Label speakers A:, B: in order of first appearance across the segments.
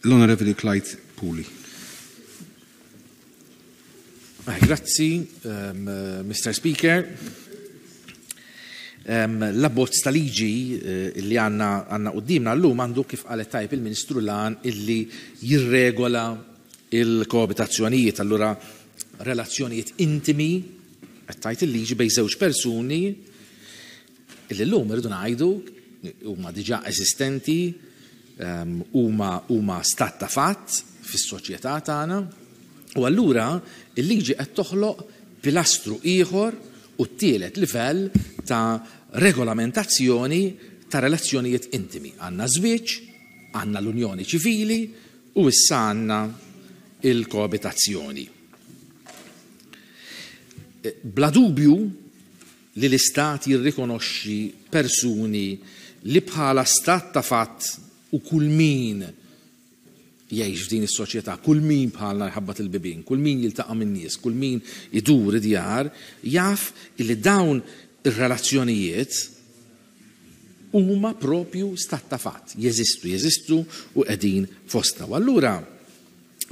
A: L-Onorevoli Clyde Puli.
B: Grazzi, Mr. Speaker. L-abbozz ta' liġi li għandna għandna quddiemna llum għandu, kif qalet tajjeb il-Ministru, l-għan illi jirregola il-koabitazzjonijiet, allura relazzjonijiet intimi, qed tgħid il-liġi, bejn żewġ persuni illi llum irridu ngħidu huma diġà eżistenti, huma huma stat ta' fatt fis-soċjetà tagħna, u allura l-liġi qed toħloq pilastru ieħor u t-tielet livell ta' regolamentazzjoni ta' relazzjonijiet intimi. Għandna żwieġ, għandna l-unjoni ċivili u issa għandna il-koabitazzjoni. Bla dubju li l-Istat jirrikonoxxi persuni li bħala stat ta' fatt u kull min jgħix f'din is-soċjetà, kull min bħalna jħabbat il-bibien, kull min jiltaqa' min-nies, kull min idur id-djar, jaf illi dawn ir-relazzjonijiet huma propju stat ta' fatt, jeżistu, jeżistu u qegħdin fostna. U allura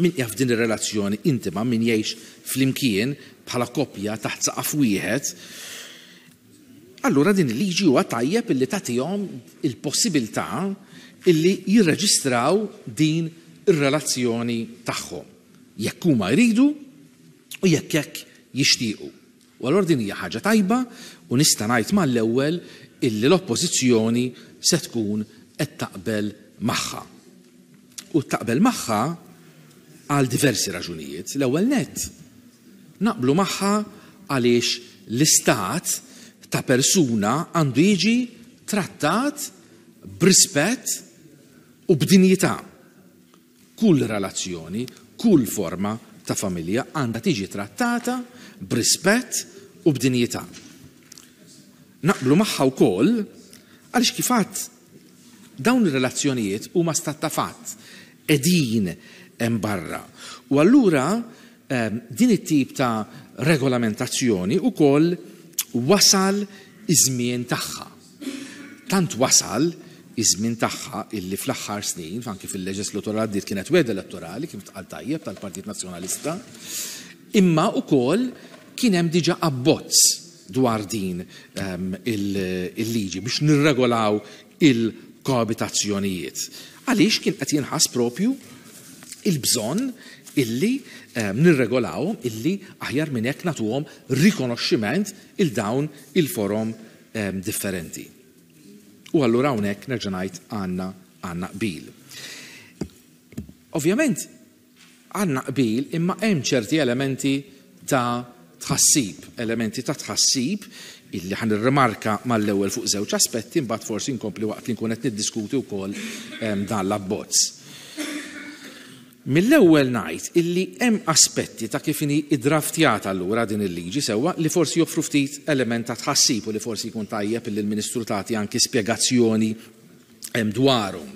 B: min qiegħed f'din ir-relazzjoni intima, min jgħix flimkien bħala koppja taħt saqaf wieħed, allura din il-liġi huwa tajjeb illi tagħtihom il-possibilità illi jirreġistraw din ir-relazzjoni tagħhom, jekk huma jridu u jekk hekk jixtiequ. U allura din hija ħaġa tajba u nista' ngħid mal-ewwel illi l-Oppożizzjoni se tkun qed taqbel magħha. U taqbel magħha għal diversi raġunijiet. L-ewwel nett, naqblu magħha għaliex l-istat ta' persuna għandu jiġi trattat b'rispett u b'dinjità. Kull relazzjoni, kull forma ta' familja għandha tiġi trattata b'rispett u b'dinjità. Naqblu magħha wkoll għaliex kif għadt dawn ir-relazzjonijiet huma stat ta' fatt, qegħdin hemm barra. U allura din it-tip ta' regolamentazzjoni wkoll wasal iż-żmien tagħha. Tant wasal iż-żmien tagħha illi fl-aħħar snin, anki fil-leġislatura li għaddiet kienet wegħda elettorali, kif tqal tajjeb, tal-Partit Nazzjonalista, imma wkoll kien hemm diġà abbozz dwar din il-liġi biex nirregolaw il-koabitazzjonijiet. Għaliex kien qed jinħass propju il-bżonn illi nirregolawhom, illi aħjar minn hekk nagħtuhom rikonoxximent il dawn il-forom differenti. U allura hawnhekk nerġa' ngħid għandna għandna qbil. Ovvjament għandna qbil imma hemm ċerti elementi ta' tħassib, elementi ta' tħassib illi ħa nirrimarka mal-ewwel fuq żewġ aspetti, imbagħad forsi nkompli waqt li nkun qed niddiskuti wkoll dan l-abbozz. Mill-ewwel ngħid illi hemm aspetti ta' kif inhi iddraftjata allura din il-liġi sewwa li forsi joffru ftit element ta' tħassib u li forsi jkun tajjeb illi l-Ministru tagħti anki spjegazzjoni dwarhom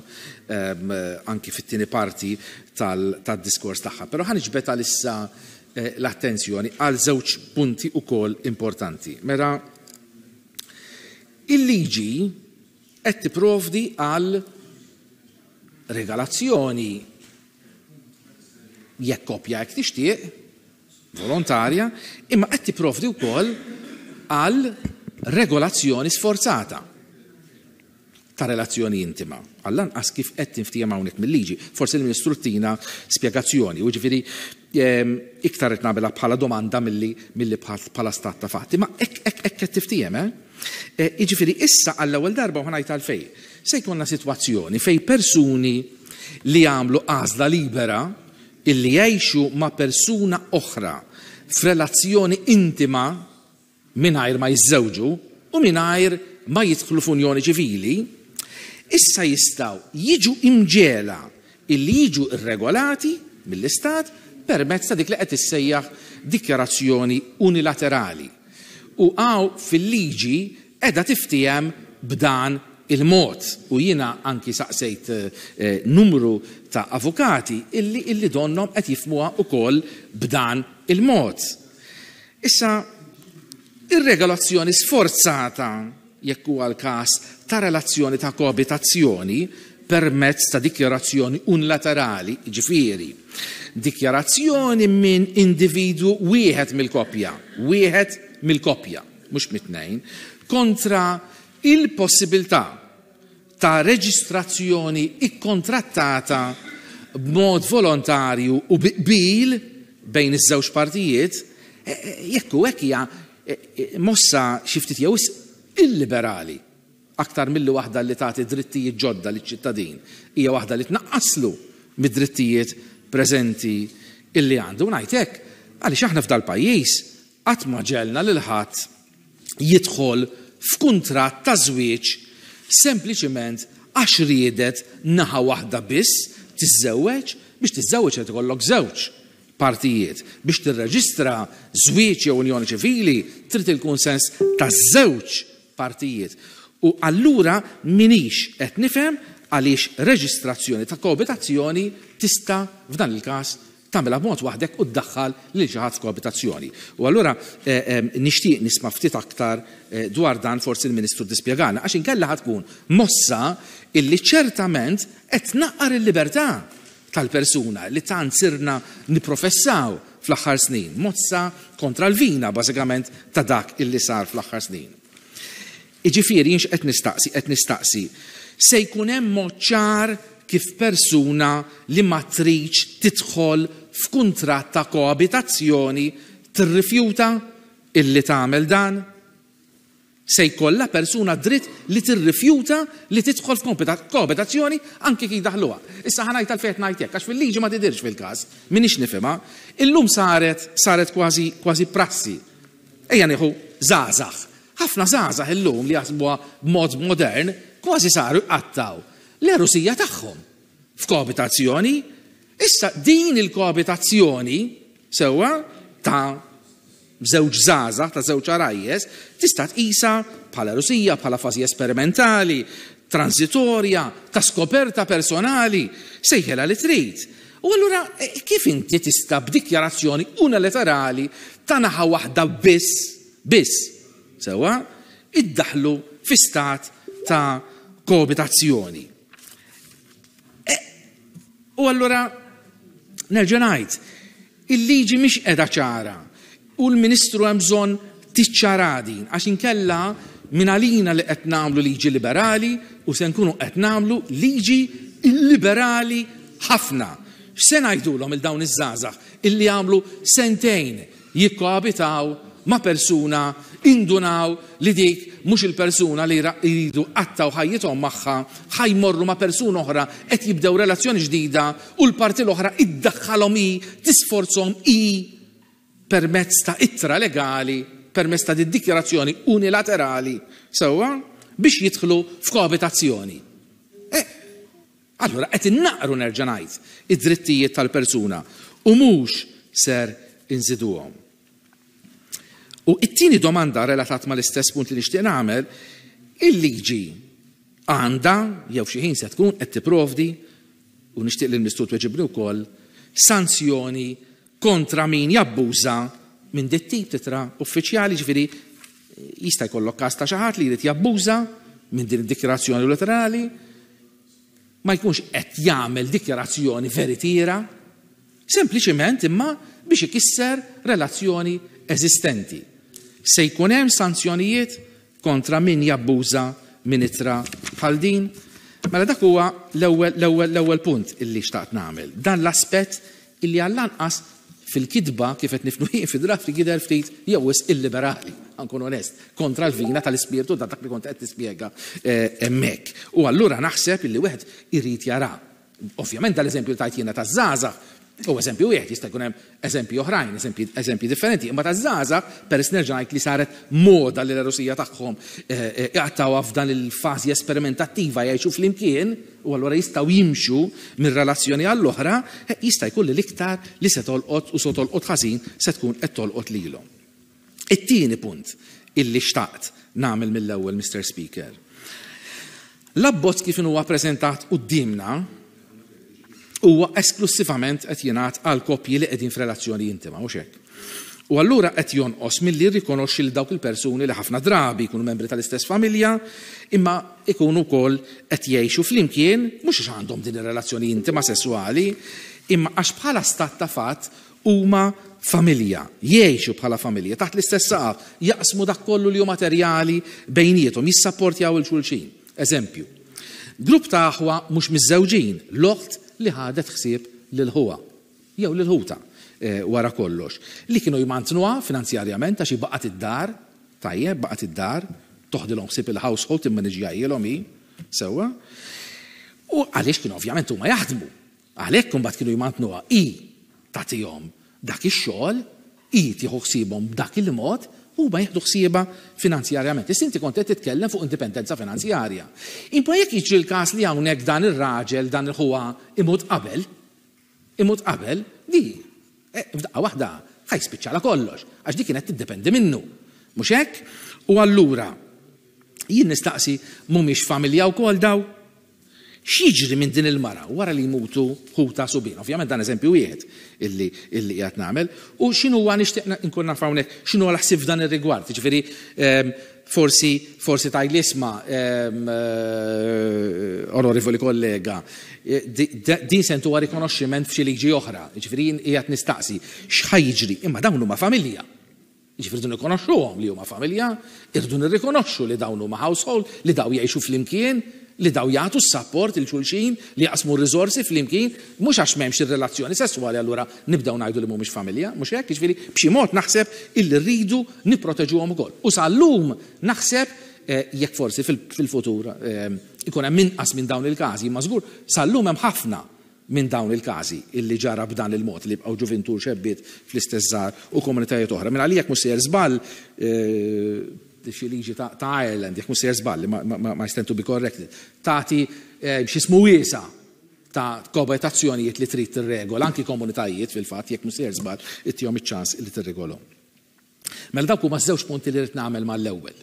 B: anki fit-tieni parti tad-diskors tagħha. Però ħa niġbed għalissa l-attenzjoni għal żewġ punti wkoll importanti. Mela, il-liġi qed tipprovdi għal regalazzjoni jekk koppja hekk tixtieq, volontarja, imma qed tipprovdi wkoll għal regolazzjoni sforzata ta' relazzjoni intima. Għall-anqas kif qed tinftiehem hawnhekk mil-liġi. Forsi l-Ministru tina spjegazzjoni, u ġifieri iktar qed nagħmilha bħala domanda milli milli bħala stat ta' fatti. Ma hekk hekk hekk qed tiftiehem, eh? Jiġifieri issa għall-ewwel darba u ħa ngħid għalfejn, se jkollna sitwazzjoni fejn persuni li jagħmlu għażla libera illi jgħixu ma' persuna oħra f'relazzjoni intima mingħajr ma jiżżewġu u mingħajr ma jidħlu f'unjoni ċivili, issa jistgħu jiġu imġegħla illi jiġu rregolati mill-Istat permezz ta' dik li qed tissejjaħ dikjarazzjoni unilaterali. U hawn fil-liġi qiegħda tiftiehem b'dan il-mod. U jiena anki saqsejt numru ta' avukati illi illi donnhom qed jifhmuha wkoll b'dan il-mod. Issa, ir-regolazzjoni sforzata, jekk huwa l-każ, ta' relazzjoni ta' koabitazzjoni permezz ta' dikjarazzjoni unilaterali, jiġifieri, dikjarazzjoni minn individwu wieħed mill-koppja, wieħed mill-koppja, mhux mit-tnejn, kontra il-possibilità ta' reġistrazzjoni kkontrattata b'mod volontarju u bi qbil bejn iż-żewġ partijiet, jekk hu hekk hija mossa xi ftit jew wisq illiberali, aktar milli waħda li tagħti drittijiet ġodda liċ-ċittadin, hija waħda li tnaqqaslu mid-drittijiet preżenti illi għandu. U ngħid hekk għaliex aħna f'dal-pajjiż qatt ma ġegħelna lil ħadd jidħol f'kuntratt ta' żwieġ sempliċiment għax riedet naħa waħda biss tiżżewweġ, biex tiżżewweġ irid ikollok żewġ partijiet. Biex tirreġistra żwieġ jew unjoni ċivili trid il-kunsens taż-żewġ partijiet. U allura m'iniex qed nifhem għaliex reġistrazzjoni ta' koabitazzjoni tista' f'dan il-każ tagħmilha b'mod waħdek u ddaħħal lil xi ħadd f'koabitazzjoni. U allura nixtieq nisma' ftit aktar dwar dan forsi l-Ministru tispjegana għax inkella ħa tkun mossa illi ċertament qed tnaqqar il-libertà tal-persuna li tant sirna nipprofessaw fl-aħħar snin, mossa kontra l-vina bażikament ta' dak illi sar fl-aħħar snin. Jiġifieri jien x'qed nistaqsi? Qed nistaqsi, se jkun hemm mod ċar kif persuna li ma tridx tidħol f'kuntratt ta' koabitazzjoni tirrifjuta illi tagħmel dan? Se jkollha persuna d-dritt li tirrifjuta li tidħol f'koabitazzjoni anki jekk jdaħħluha. Issa ħa ngħid għalfejn qed ngħid hekk, għax fil-liġi ma tidhirx fil-każ, m'iniex nifhimha. Illum saret saret kważi kważi prassi. Ejja nieħu żgħażagħ. Ħafna żgħażagħ illum li jaħsbuha b'mod modern kważi saru jqattgħu l-għerusija tagħhom f'koabitazzjoni. Issa din il-koabitazzjoni sewwa ta' żewġ żgħażagħ, ta' żewġ għarajjes, tista' tqisha bħala għerusija, bħala fażi esperimentali, transitorja, ta' skoperta personali, sejħilha li trid. U allura kif inti tista' b'dikjarazzjoni unilaterali ta' naħa waħda biss, biss, sewwa, iddaħħlu fi stat ta' koabitazzjoni? U allura nerġa' ngħid, Il-liġi mhix qiegħda ċara u l-Ministru hemm bżonn tiċċaraha din għax inkella mingħalina li qed nagħmlu liġi liberali u se nkunu qed nagħmlu liġi illiberali ħafna. X'se ngħidulhom 'il dawn iż-żgħażagħ illi għamlu sentejn jikkoabitaw ma' persuna indunaw li dik mhux il-persuna li jridu jqattgħu ħajjithom magħha, ħa jmorru ma' persuna oħra qed jibdew relazzjoni ġdida u l-parti l-oħra iddaħħalhom hi, tisforzhom hi permezz ta' ittra legali, permezz ta' did-dikjarazzjoni unilaterali, sewwa, biex jidħlu f'koabitazzjoni. Eh, allura qed innaqru nerġa' ngħid id-drittijiet tal-persuna u mhux ser inżiduhom. U it-tieni domanda relatat mal-istess punt li nixtieq nagħmel, il-liġi għandha jew xi ħin se tkun qed tipprovdi u nixtieq li l-Ministru tweġibni wkoll sanzjoni kontra min jabbuża minn dit tip t'ittra uffiċjali, ġifieri jista' jkollok każ ta' xi ħadd li jrid jabbuża minn din id-dikjarazzjoni unilaterali, ma jkunx qed jagħmel dikjarazzjoni veritiera, sempliċiment imma biex ikisser relazzjoni eżistenti. Se jkun hemm sanzjonijiet kontra min jabbuża minn ittra bħal din? Mela dak huwa l-ewwel l-ewwel l-ewwel punt illi xtaqt nagħmel. Dan l-aspett illi għall-anqas fil-kitba kif qed nifnu jien fid-draft jidher ftit jew wisq illiberali, ħa nkun onest, kontra l-vina tal-ispirtu ta' dak li kont qed nispjega hemmhekk. U allura naħseb illi wieħed irid jara. Ovvjament dal-eżempju li tajt jiena taż-żgħażagħ huwa eżempju wieħed, jista' jkun hemm eżempji oħrajn, eżempji differenti, imma taż-żgħażagħ peress nerġa' ngħid li saret moda li l-għerusija tagħhom iqattgħuha f'dan il-fażi esperimentattiva jgħixu flimkien, u allura jistgħu jimxu minn relazzjoni għall-oħra, jista' jkun li l-iktar li se tolqot u se tolqot ħażin se tkun qed tolqot lilhom. It-tieni punt illi xtaqt nagħmel mill-ewwel, Mister Speaker. L-abbozz kif inhuwa ppreżentat quddiemna huwa esklussivament qed jingħad għal koppji li qegħdin f'relazzjoni intima, mhux hekk? U allura qed jonqos milli jirrikonoxxi lil dawk il-persuni li ħafna drabi jkunu membri tal-istess familja imma jkunu wkoll qed jgħixu flimkien mhux għax għandhom din ir-relazzjoni intima sesswali imma għax bħala stat ta' fatt huma familja, jgħixu bħala familja taħt l-istess saqaf, jaqsmu dak kollu li hu materjali bejniethom, jissapportjaw 'il xulxin. Eżempju, grupp ta' aħwa mhux miżżewġin, l-oħt li ħadet ħsieb lil ħuha. jew lil ħutha, wara kollox, li kienu jmantnuha finanzjarjament għax hi baqgħet id-dar, tajjeb, baqgħet id-dar, toħdilhom ħsieb il-household, timmaniġġjahilhom hi, sewwa. U għaliex kienu ovvjament huma jaħdmu. Għalhekk imbagħad kienu jmantnuha hi tagħtihom dak ix-xogħol, hi tieħu ħsiebhom b'dak il-mod, huma jieħdu ħsiebha finanzjarjament. Issa inti kont qed titkellem fuq indipendenza finanzjarja. Imma jekk jiġri l-każ li hawnhekk dan ir-raġel, dan il-ħuha imut qabel, imut qabel, di, f'daqqa waħda ħa jispiċċalha kollox, għax di kienet tiddependi minnu. Mhux hekk? U allura, jien nistaqsi mhumiex familja wkoll daw? X'jiġri minn din il-mara wara li jmutu ħutha subien? Ovvjament dan eżempju wieħed illi illi qiegħed nagħmel. U x'inhuwa nixtieq nkun naf hawnhekk x'inhuwa l-ħsieb f'dan ir-rigward. Jiġifieri Forsi, forsi tgħidli isma', onorevoli kollega, din se ntuha rikonoxximent f'xi liġi oħra. Jiġifieri jien qiegħed nistaqsi x'ħa jiġri, imma dawn huma familja. Jiġifieri rridu nirrikonoxxuhom li huma familja, irridu nirrikonoxxu li dawn huma household, li dawn jgħixu flimkien, li dawn jagħtu s-sapport lil xulxin, li jaqsmu r-riżorsi flimkien, mhux għax m'hemmx ir-relazzjoni sesswali allura nibdew ngħidu li mhumiex familja, mhux hekk? Jiġifieri b'xi mod naħseb illi rridu nipproteġuhom ukoll. U sal-lum naħseb, jekk forsi fil-futur ikun hemm inqas minn dawn il-każi, imma żgur sal-lum hemm ħafna minn dawn il-każi illi ġara b'dan il-mod li jibqgħu ġuvintur xebbiet fl-istess żgħar u komunitajiet oħra. Minn għalija jekk mhux sejjer żball, xi liġi ta' Ireland, jekk mhux sejjer żball, ma I stand to be corrected, tagħti x'ismu wiesa' ta' koabitazzjonijiet li trid tirregola, anki komunitajiet fil-fatt, jekk mhux sejjer żball, ittihom iċ-ċans li tirregolhom. Mela dawk huma ż-żewġ punti li rrid nagħmel mal-ewwel.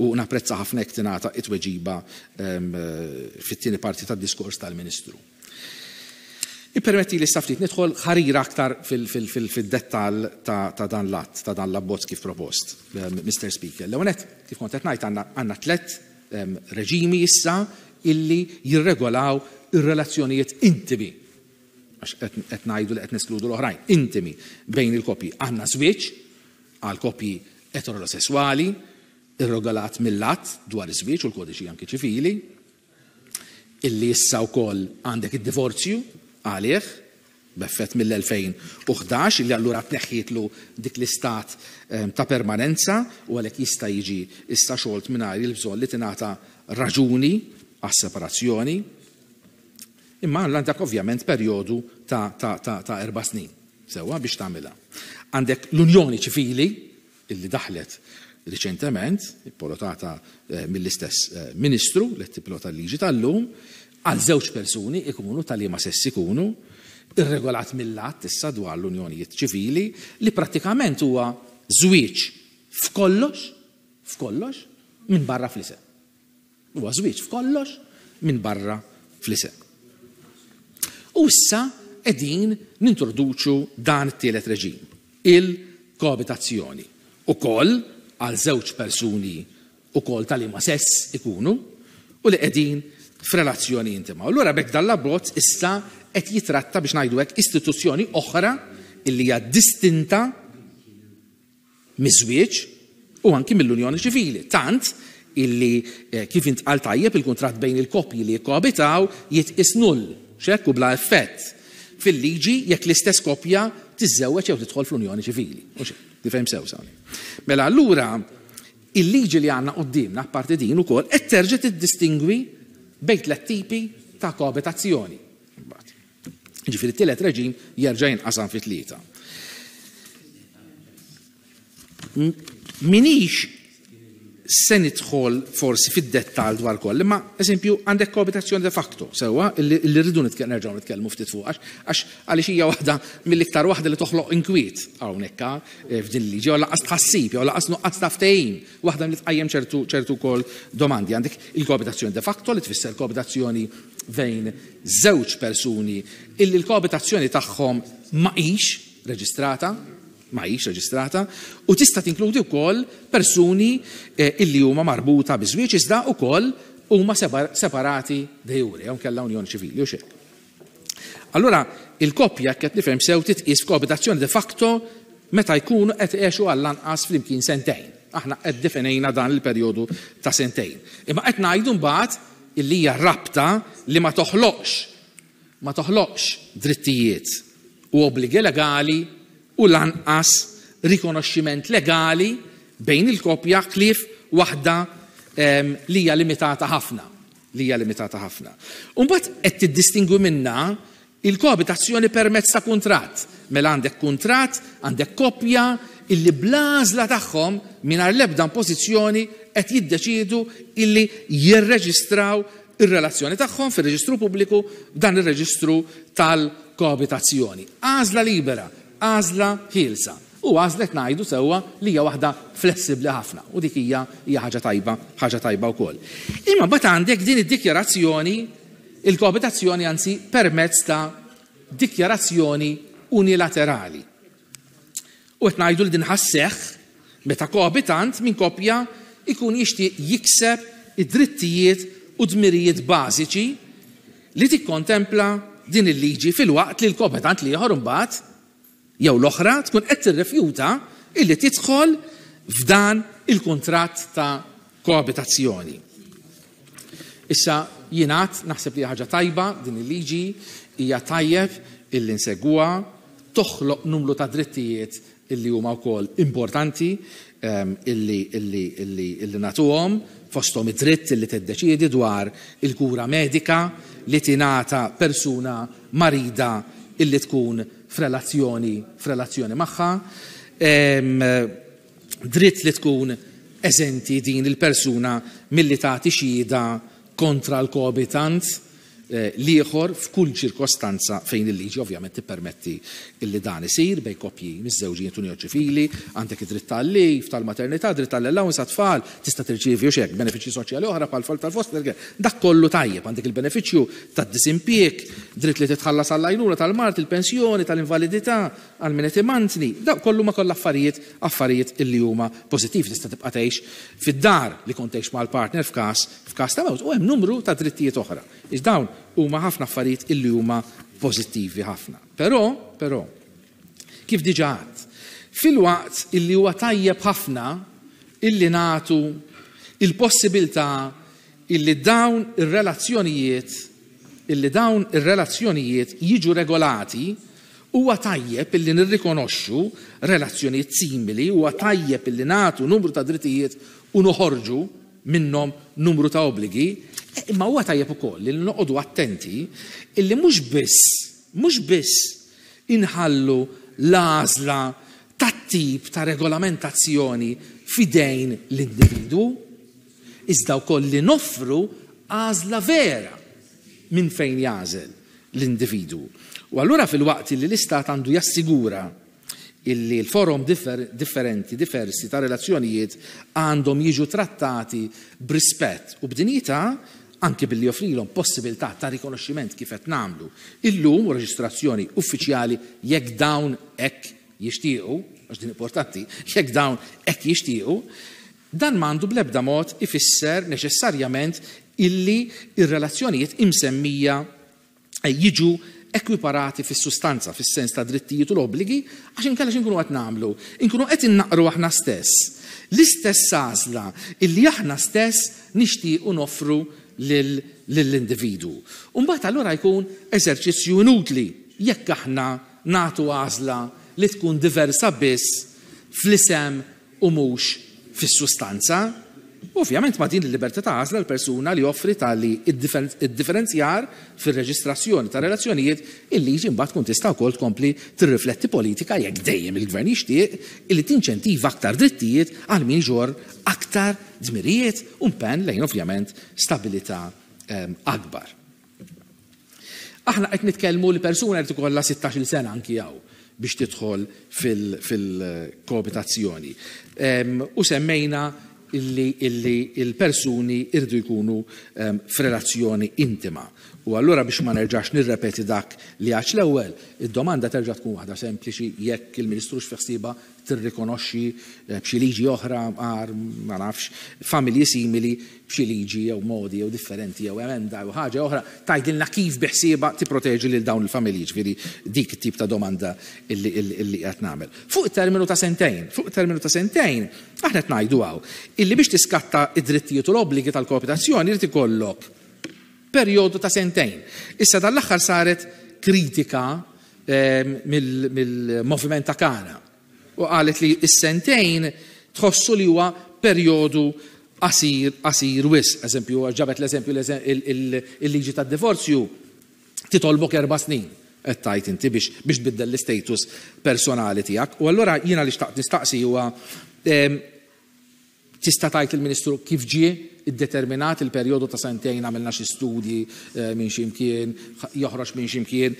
B: U napprezza ħafna jekk tingħata t-tweġiba fit-tieni parti tad-diskors tal-Ministru. Ippermettili issa ftit nidħol ħarira aktar fid-dettall ta' dan l-att, ta' dan l-abbozz kif propost, Mister Speaker. L-ewwel nett, kif kont qed ngħid, għandna tlett reġimi issa illi jirregolaw ir-relazzjonijiet intimi għax qed ngħidu li qed neskludu l-oħrajn, intimi bejn il-koppji. Għandna żwieġ għal koppji eterosesswali, irregolat mill-Att dwar iż-Żwieġ u l-Kodiċi anki Ċivili, illi issa wkoll għandek id-divorzju għalih, b'effett mill-2011, illi allura tneħħietlu dik l-istat ta' permanenza u għalhekk jista' jiġi issa xolt mingħajr il-bżonn li tingħata raġuni għas-separazzjoni. Imma għandek ovvjament perjodu ta' ta' ta' ta' erba' snin, sewwa, biex tagħmilha. Għandek l-unjoni ċivili illi daħlet riċentement, ippolotata mill-istess Ministru li qed tippilota l-liġi tal-lum, għal żewġ persuni ikunu ta' liema sess ikunu, irregolat mill-Att issa dwar l-unjonijiet ċivili, li prattikament huwa żwieġ f'kollox, f'kollox, minbarra fl-isem. Huwa żwieġ f'kollox minbarra fl-isem. U issa qegħdin nintroduċu dan it-tielet reġim, il-koabitazzjoni, ukoll għal żewġ persuni ukoll ta' liema sess ikunu u li qegħdin f'relazzjoni intima. U allura b'hekk dan l-abbozz issa qed jitratta biex ngħidu hekk istituzzjoni oħra illi hija distinta miż-żwieġ u anki mill-unjoni ċivili, tant illi kif intqal tajjeb il-kuntratt bejn il-koppji li jikkoabitaw jitqies null, x'hekk u bla effett fil-liġi jekk l-istess koppja tiżżewweġ jew tidħol fl-unjoni ċivili. Mhux hekk? Nifhem sew hawnhekk. Mela allura il-liġi li għandna quddiemna apparti din ukoll qed terġa' tiddistingwi bejn tlett tipi ta' koabitazzjoni. Imbagħad. Ġifieri t-tielet reġim jerġa' jinqasam fi tlieta. Minix se nidħol forsi fid-dettall dwar koll, imma eżempju għandek koabitazzjoni de facto, sewwa, illi rridu nerġgħu nitkellmu ftit fuq għax għaliex hija waħda mill-iktar waħda li toħloq inkwiet hawnhekk eh, f'din il-liġi, jew laqas tħassib, jew laqas nuqqas ta' ftehim, waħda li tqajjem ċertu ċertu wkoll domandi. Għandek il-koabitazzjoni de facto li tfisser koabitazzjoni bejn żewġ persuni illi l-koabitazzjoni tagħhom ma hix reġistrata. ma hix reġistrata, u tista' tinkludi wkoll persuni illi huma marbuta bi żwieġ iżda wkoll huma separati de jure, jew inkella unjoni ċivili, hux hekk. Allura, il-koppja, jekk qed nifhem sew, titqies f'koabitazzjoni de facto meta jkunu qed għexu għall-anqas flimkien sentejn. Aħna qed definejna dan il-perjodu ta' sentejn. Imma qed ngħidu mbagħad illi hija rabta li ma toħloqx ma toħloqx drittijiet u obbligi legali u lanqas rikonoxximent legali bejn il-koppja ħlief waħda li hija limitata ħafna. Li hija limitata ħafna. U mbagħad qed tiddistingwi minnha il-koabitazzjoni permezz ta' kuntratt. Mela għandek kuntratt, għandek koppja illi bl-għażla tagħhom mingħajr l-ebda impożizzjoni qed jiddeċiedu illi jirreġistraw ir-relazzjoni tagħhom fir-reġistru pubbliku, dan ir-reġistru tal-koabitazzjoni. Għażla libera, għażla ħielsa. U għażla qed ngħidu sewwa li hija waħda flessibbli ħafna u dik hija hija ħaġa tajba, ħaġa tajba wkoll. Imma mbagħad għandek din id-dikjarazzjoni, il-koabitazzjoni anzi permezz ta' dikjarazzjoni unilaterali. U qed ngħidu li din ħasseħ meta koabitant minn koppja jkun jixtieq jikseb id-drittijiet u dmirijiet bażiċi li tikkontempla din il-liġi filwaqt li l-koabitant l-ieħor imbagħad jew l-oħra tkun qed tirrifjuta illi tidħol f'dan il-kuntratt ta' koabitazzjoni. Issa jingħad naħseb li ħaġa tajba din il-liġi, hija tajjeb illi nsegwuha, toħloq numru ta' drittijiet illi huma wkoll importanti illi, illi, illi, illi nagħtuhom, fosthom id-dritt illi tiddeċiedi dwar il-kura medika li tingħata persuna marida illi tkun f'relazzjoni f'relazzjoni magħha, dritt li tkun eżenti din il-persuna milli tagħti xhieda kontra l-koabitant l-ieħor f'kull ċirkostanza fejn il-liġi ovvjament tippermetti illi dan isir bejn koppji miżżewġin unjoni ċivili, għandek id-dritt tal-leave, tal-maternità, dritt tal-allowance għat-tfal, tista' tirċievi u xek, benefiċċji soċjali oħra bħal tal-foster care, dak kollu tajjeb, għandek il-benefiċċju tad-disimpjieg, dritt li titħallas għall-għajnuna tal-mard, il-pensjoni, tal-invalidità, għal min qed imantni, dak kollu ma kollha affarijiet affarijiet illi huma pożittivi, tista' tibqa' tgħix fid-dar li kont tgħix mal-partner f'każ f'każ ta' mewt u hemm numru ta' drittijiet oħra. Iż dawn huma ħafna affarijiet illi huma pożittivi ħafna. Però, però, kif diġà għedt, filwaqt illi huwa tajjeb ħafna illi nagħtu il-possibilità illi dawn ir-relazzjonijiet illi dawn ir-relazzjonijiet jiġu regolati, huwa tajjeb illi nirrikonoxxu relazzjonijiet simili, huwa tajjeb illi nagħtu numru ta' drittijiet u noħorġu minnhom numru ta' obbligi, imma huwa tajjeb ukoll li noqogħdu attenti illi mhux biss mhux biss inħallu l-għażla tat-tip ta' regolamentazzjoni f'idejn l-individwu, iżda wkoll li noffru għażla vera minn fejn jagħżel l-individwu. U allura filwaqt li l-Istat għandu jassigura illi l-forom differenti, diversi ta' relazzjonijiet għandhom jiġu trattati b'rispett u b'dinjità, anki billi joffrilhom possibilità ta' rikonoxximent kif qed nagħmlu illum u reġistrazzjoni uffiċjali jekk dawn hekk jixtiequ, għax din importanti, jekk dawn hekk jixtiequ, dan m'għandu bl-ebda mod ifisser neċessarjament illi ir-relazzjonijiet imsemmija jiġu ekwiparati fis-sustanza, fis-sens ta' drittijiet u l-obbligi, għax inkella x'inkunu qed nagħmlu? Inkunu qed innaqru aħna stess. L-istess għażla illi aħna stess nixtiequ noffru lill-individwu. U mbagħad allura jkun eżerċizzju inutli jekk aħna nagħtu għażla li tkun diversa biss fl-isem u mhux fis-sustanza. Ovvjament ma' din il-libertà ta' għażla l-persuna li joffri tali id-differenzjar fir-reġistrazzjoni ta' relazzjonijiet, il-liġi mbagħad tkun tista' wkoll tkompli tirrifletti politika jekk dejjem il-gvern jixtieq illi tinċentiva aktar drittijiet għal min iġorr aktar dmirijiet u impenn lejn ovvjament stabilità akbar. Aħna qed nitkellmu li persuna jrid ikollha 16-il sena anki hawn biex tidħol fil-koabitazzjoni. U semmejna illi illi il-persuni irdu jkunu f'relazzjoni intima. U allura biex ma nerġax nirrepeti dak li għax l-ewwel, id-domanda terġa' tkun waħda sempliċi jekk il-Ministru x'fiħsieba tirrikonoxxi b'xi liġi oħra għar ma nafx familji simili b'xi liġi jew modi jew differenti jew emenda jew ħaġa oħra tgħidilna kif biħsiebha tipproteġi lil dawn il-familji, ġifieri dik it-tip ta' domanda illi illi qed nagħmel. Fuq terminu ta' sentejn, fuq terminu ta' sentejn, aħna qed ngħidu hawn illi biex tiskatta id-drittijiet u l-obbligi tal-koabitazzjoni irid ikollok perjodu ta' sentejn. Issa dan l-aħħar saret kritika mill-moviment ta' Kana u qalet li s-sentejn tħossu li huwa perjodu qasir qasir wisq. Eżempju, ġabet l-eżempju il-liġi tad-divorzju titolbok 4 snin qed tgħid inti biex tbiddel l-istatus personali tiegħek. U allura jiena li xtaqt nistaqsi huwa tista' tgħid il-Ministru kif ġie iddeterminat il-perjodu ta' sentejn? Għamilna xi studji minn ximkien, joħroġ minn ximkien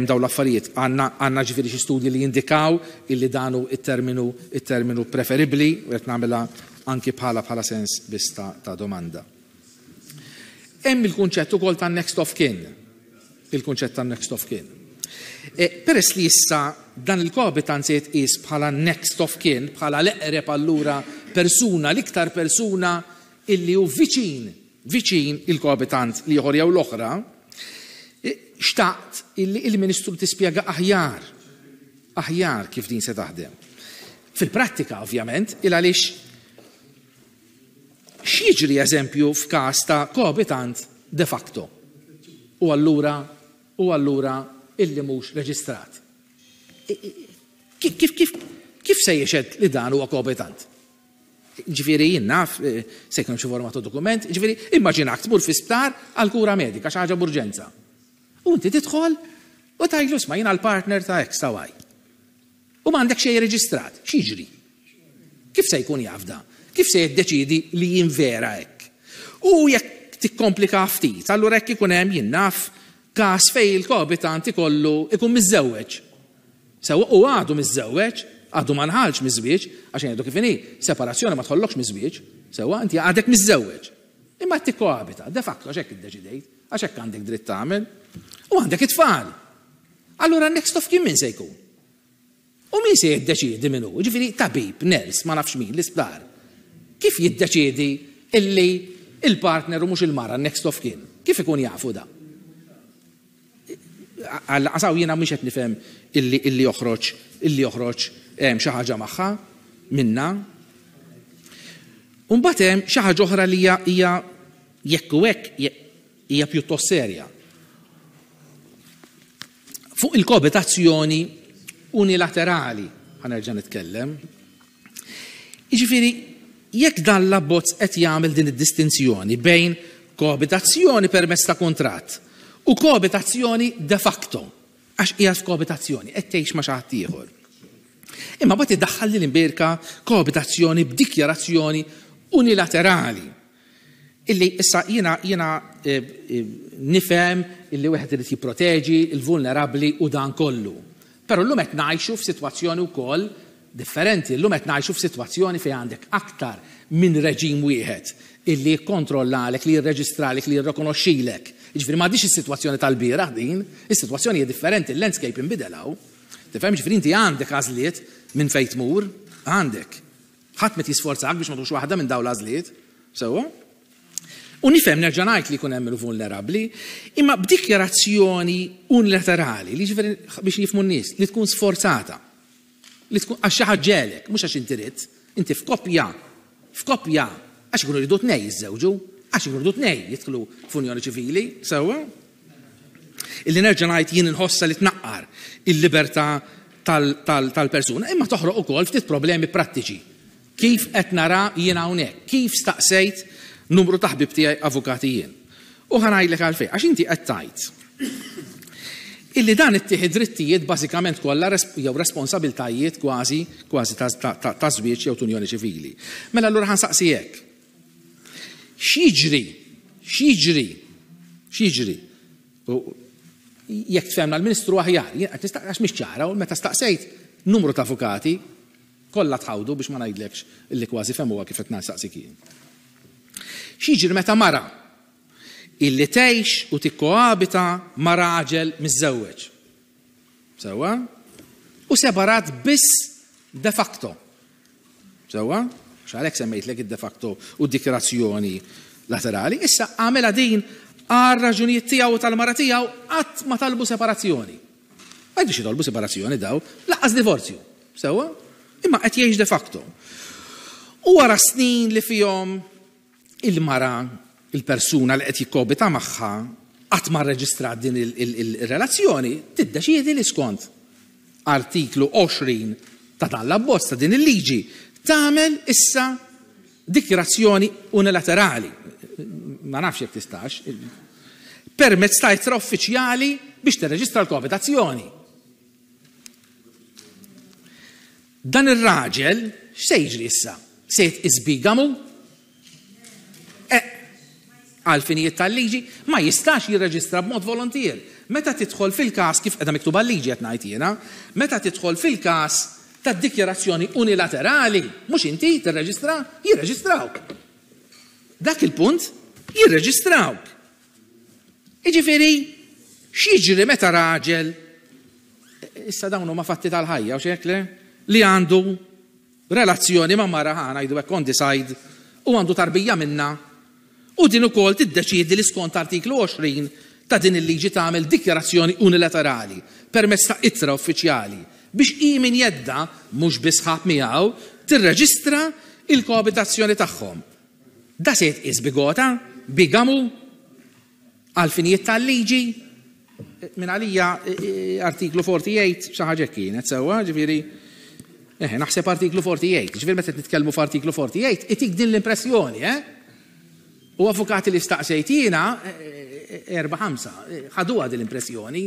B: dawn l-affarijiet? Għandna ġifieri xi studji li jindikaw illi danu it-terminu preferibbli? U qed nagħmilha anki bħala sens biss ta' domanda. Hemm il-kunċett ukoll ta' next of kin. Il-kunċett ta' next of kin. Peress li issa dan il-koabitant se jitqies bħala next of kin, bħala l-eqreb allura persuna, l-iktar persuna illi hu viċin il-koabitant l-ieħor jew l-oħra, xtaqt illi il-Ministru tispjega aħjar kif din se taħdem. Fil-prattika, ovvjament, il għaliex x'jiġri, eżempju, f'każ ta' koabitant de facto u allura illi mhux reġistrat? Kif se jixhed li dan huwa koabitant? Ġifieri jien naf se jkun xi forma ta' dokument, ġifieri immaġinak tmur fi sptar għal kura medika, xi ħaġa b'urġenza. U inti tidħol u tgħidlu, "Isma', jiena l-partner ta' X ta' Y." U m'għandek xejn reġistrat, x'jiġri? Kif se jkun jaf da? Kif se jiddeċidi li jien vera hekk? U jekk tikkomplika ftit, allura jekk ikun hemm, jien naf, każ fejn il-koabitant ikollu ikun miżżewweġ. Sewa u għadu miżżewweġ, għadu ma nħallx miż-żwieġ, għax jgħidu kif inhi, separazzjoni ma tħollokx miż-żwieġ, sewa inti għadek miżżewweġ. Imma tikkoabita, de facto, għax hekk iddeċidejt, għax hekk għandek dritt tagħmel. U għandek it-tfal. Allura next of kin min se jkun? U min se jiddeċiedi min hu? Ġifieri tabib, nurse, ma nafx min, l-isptar. Kif jiddeċiedi illi il-partner u mhux il-mara next of kin? Kif ikun jafu da? Għasaw jiena mhux qed nifhem illi joħroġ xi ħaġa magħha minna. Mbagħad hemm xi ħaġa oħra li hija jekk u hekk hija pjuttost serja. Fuq il-koabitazzjoni unilaterali ħa nerġa' nitkellem. Jiġifieri jekk dan l-abbozz qed jagħmel din id-distinzjoni bejn koabitazzjoni permezz ta' kuntratt u koabitazzjoni de facto, għax hija f'koabitazzjoni, qed tgħix ma' xi ħadd ieħor. Imma bagħad iddaħħal li l-imbierka koabitazzjoni b'dikjarazzjoni unilaterali. Illi issa jiena nifhem illi wieħed irid jipproteġi il-vulnerabbli u dan kollu. Però llum qed ngħixu f'sitwazzjoni wkoll differenti. Llum qed ngħixu f'sitwazzjoni fejn għandek aktar minn reġim wieħed illi jikkontrollalek, li jirreġistralek, li jirrikonoxxilek. Jiġifieri m'għadix is-sitwazzjoni tal-bieraħ din, is-sitwazzjoni hija differenti, il-landscape inbidel hawn. Tifhem, ġifieri inti għandek għażliet minn fejn tmur, għandek. Ħadd met jisforzak biex ma tux waħda minn dawn l-għażliet. Sewwa? U nifhem, nerġa' ngħid, li jkun hemm il-vulnerabbli, imma b'dikjarazzjoni unilaterali, li ġifieri biex jifhmu n-nies, li tkun sforzata. Li tkun għax xi ħadd ġegħlek, mhux għax inti ridt, inti f'koppja, għax ikunu jridu tnej jiżżewġu, għax ikunu jridu tnej jidħlu f'unjoni ċivili, sewwa? Illi nerġa' ngħid jien inħossa li tnaqqar il-libertà tal-persuna, imma toħroq ukoll ftit problemi prattiċi. Kif qed nara jien hawnhekk, kif staqsejt numru ta' ħbib tiegħi avukati jien. U ħa ngħidlek għalfejn, għax inti qed tgħid illi dan ittieħed drittijiet bażikament kollha jew responsabiltajiet kważi kważi ta' żwieġ jew unjoni ċivili. Mela allura ħa nsaqsi hekk. X'jiġri? X'jiġri? X'jiġri? Jekk tfehmna l-Ministru aħjar, jien qed nistaqsi għax mhix ċara u meta staqsejt numru ta' avukati. Kollha tħawdu biex ma ngħidlekx illi kważi fehmuha kif qed nsaqsik jien. X'jiġri meta mara illi tgħix u tikkoabita ma' raġel miżżewweġ? Sewwa? U separat biss de facto. Sewwa? Għalhekk semmejtlek id-de facto u d-dikjarazzjoni laterali. Issa għamilha din għal raġunijiet tiegħu u tal-mara tiegħu qatt ma talbu separazzjoni. Ma jridux jitolbu separazzjoni daw, lanqas divorzju. Sewwa? Imma qed jgħix de facto. U wara snin li fihom il-mara, il-persuna li qed jikkobita magħha, qatt ma rreġistrat din il-relazzjoni, tiddeċiedi li skont artiklu 20 ta' dan l-abbozz ta' din il-liġi tagħmel issa dikjarazzjoni unilaterali, ma nafx jekk tistax, permezz ta' ittra uffiċjali biex tirreġistra l-koabitazzjoni. Dan ir-raġel x'se jiġri issa? Se jitqies bigamu? Eh, għal finijiet tal-liġi ma jistax jirreġistra b'mod volontier. Meta tidħol fil-każ kif qiegħda miktuba l-liġi qed ngħid jiena, meta tidħol fil-każ tad-dikjarazzjoni unilaterali, mhux inti tirreġistra, jirreġistrawk. Dak il-punt jirreġistrawk. Jiġifieri, x'jiġri meta raġel, issa dawn huma fatti tal-ħajja, u x'hekk le, li għandu relazzjoni ma' mara, ħa ngħidu hekk on the side, u għandu tarbija minnha, u din ukoll tiddeċiedi li skont artiklu 20 ta' din il-liġi tagħmel dikjarazzjoni unilaterali permezz ta' ittra uffiċjali biex hi minn jeddha, mhux bi sħab miegħu, tirreġistra l-koabitazzjoni tagħhom. Da se jitqies bigota, bigamu, għall-finijiet tal-liġi? Minn għalija artiklu 48 xi ħaġa hekk kienet sewwa, ġifieri eh, naħseb artiklu 48, ġifieri meta nitkellmu f'artiklu 48, itik din l-impressjoni, eh? U avukati li staqsejt jiena, erba' ħamsa, ħaduha din l-impressjoni.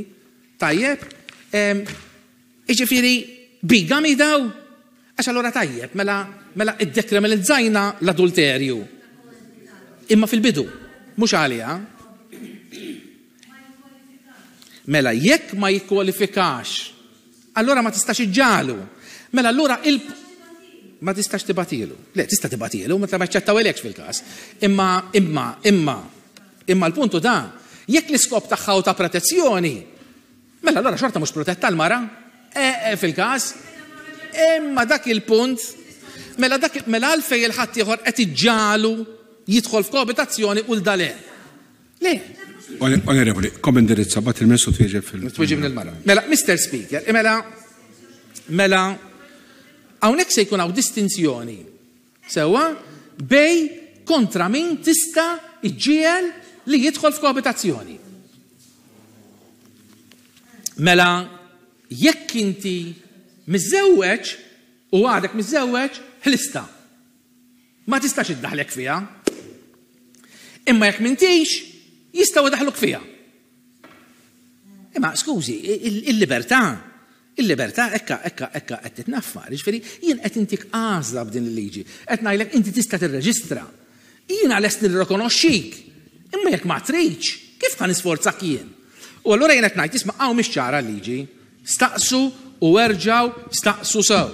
B: Tajjeb? Jiġifieri bigami daw? Għax allura tajjeb, mela mela iddekriminalizzajna l-adulterju. Imma fil-bidu, mhux għaliha. Mela jekk ma jikkwalifikax, allura ma tistax iġġagħlu. Mela allura il ma tistax tibatilu. Le, tista' tibatilu, meta ma jaċċettawilekx fil-każ. Imma imma imma imma l-puntu da, jekk l-iskop tagħha hu ta' protezzjoni, Mela allura xorta mhux protetta l-mara eh, eh, fil-każ. Imma dak il-punt, mela dak mela għalfejn il-ħadd ieħor qed iġġagħlu jidħol f'koabitazzjoni u l-dale. Le.
A: Onorevoli, kom indirizza bat il-Ministru twieġeb fil.
B: Twieġeb lill-mara. Mela, Mr. Speaker, mela mela hawnhekk se jkun hawn distinzjoni Sewwa, bejn kontra min tista' ġġiegħel li jidħol f'koabitazzjoni. Mela, jekk inti miżżewweġ u għadek miżżewweġ, ħlistha. Ma tistax iddaħħlek fiha. Imma jekk m'intix, jistgħu jdaħħluk fiha. Imma skużi, il-libertà, il-libertà ekka ekka ekka qed titnaffar. Jiġifieri jien qed intik għażla b'din il-liġi. Qed ngħidlek inti tista' tirreġistra. Jiena lest nirrikonoxxik. Imma jekk ma tridx, kif ħa nisforzak jien? U allura jien qed ngħid isma' hawn mhix ċara l-liġi. Staqsu u erġgħu staqsu sew.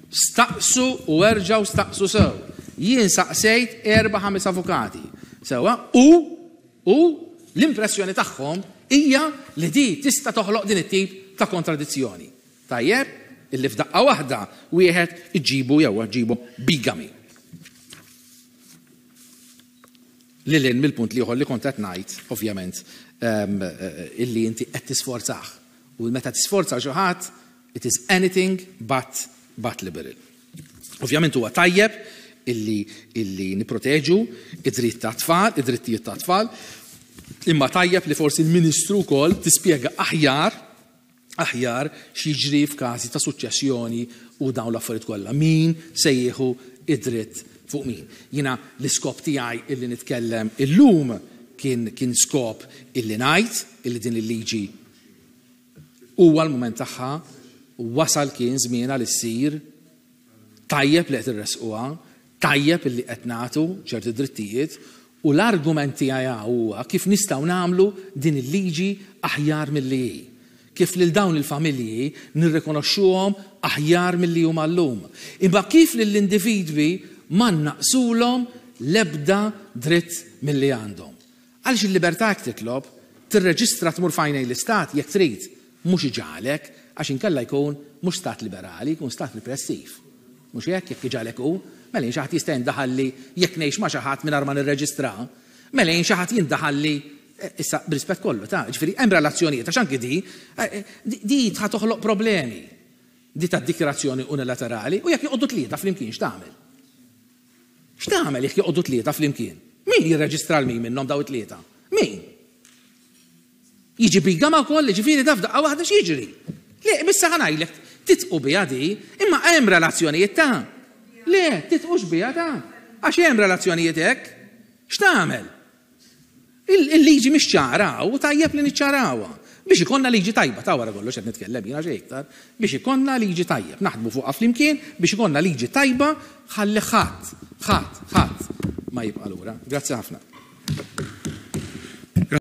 B: Staqsu u erġgħu staqsu sew. Jien saqsejt erba' ħames avukati. Sewwa u U l-impressjoni tagħhom hija li di tista' toħloq din it-tip ta' kontradizzjoni. Tajjeb illi f'daqqa waħda wieħed iġibu jew ġibu bigamy. Lil hinn mill-punt l-ieħor li kont qed ngħid, ovvjament, illi inti qed tisforzah. U meta tisforza xi ħadd, it is anything but, but liberal. Ovvjament huwa tajjeb illi, illi niproteġu id-dritt ta' tfal, id-drittijiet ta' tfal, imma tajjeb li forsi l-Ministru wkoll tispjega aħjar aħjar x'jiġri f'każi ta' suċċessjoni u dawn l-affarijiet kollha. Min se jieħu id-dritt fuq min. Jiena l-iskop tiegħi illi nitkellem illum kien kien skop illi ngħid illi din il-liġi huwa l-mument tagħha, wasal kien żmienha li ssir, tajjeb li qed irressquha, tajjeb illi qed nagħtu ċerti drittijiet u l-argument tiegħi huwa kif nistgħu nagħmlu din il-liġi aħjar milli hi. Kif lil dawn il-familji nirrikonoxxuhom aħjar milli huma llum. Imma kif lill-individwi ma nnaqqsulhom l-ebda dritt milli għandhom. Għaliex il-libertà hekk titlob, tirreġistra tmur f'għajnejn l-istat jekk trid, mhux iġagħlek, għax inkella jkun mhux stat liberali, jkun stat ripressiv. Mhux hekk jekk iġagħlek hu? Mela jien xi ħadd jista' jindaħalli jekk ngħix ma' xi ħadd mingħajr ma nirreġistra? Mela jien xi ħadd jindaħalli issa b'rispett kollu ta' ġifieri hemm relazzjonijiet għax anki di di tħa toħloq problemi. Di tad-dikjarazzjoni unilaterali u jekk joqogħdu tlieta flimkien x'tagħmel? X'tagħmel jekk joqogħdu tlieta flimkien? Min jirreġistra 'l min minnhom daw it-tlieta? Min? Jiġi bigama wkoll, jiġifieri da f'daqqa waħda x'jiġri? Le, issa ħa ngħidlek, titqu biha di, imma hemm relazzjonijiet ta'. Le, titqux biha ta'. Għax hemm relazzjonijiet hekk. X'tagħmel? Il-liġi mhix ċara u tajjeb li niċċarawha. Biex ikollna liġi tajba, ta' wara kollox qed nitkellem jiena xejn iktar, biex ikollna liġi tajjeb, naħdmu fuqha flimkien biex ikollna liġi tajba ħalli ħadd, ħadd, ħadd ma jibqa' lura. Grazzi ħafna.